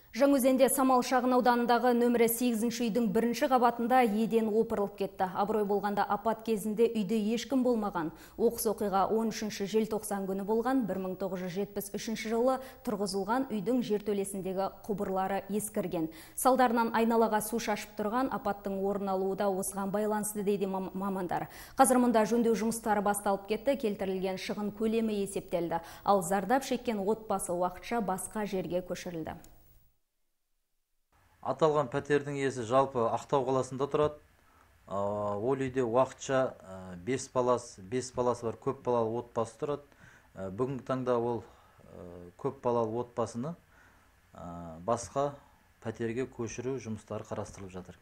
Жаңаөзенде Самал шағын ауданындағы нөмірі 8-ші үйдің бірінші қабатында еден опырылып кетті. Абырой болғанда апат кезінде үйде ешкім болмаған. Оқыс оқиға 13 желтоқсан күні болған. 1973 жылы тұрғызылған үйдің жертөлесіндегі құбырлары ескірген. Салдарынан айналаға су шашып тұрған, апаттың орын алуы да осыған байланысты дейді мамандар. Қазір мұнда жөндеу жұмыстары басталып кетті, келтірілген шығын көлемі есептелді. Ал зардап шеккен отбасы уақытша басқа жерге көшірілді. Аталған пәтердің иесі жалпы Ақтау қаласында тұрады. Ол үйде уақытша 5 баласы бар көп балалы отбасы тұрады. Бүгінгі таңда ол көп балалы отбасыны басқа пәтерге көшіру жұмыстары қарастырылып жатыр.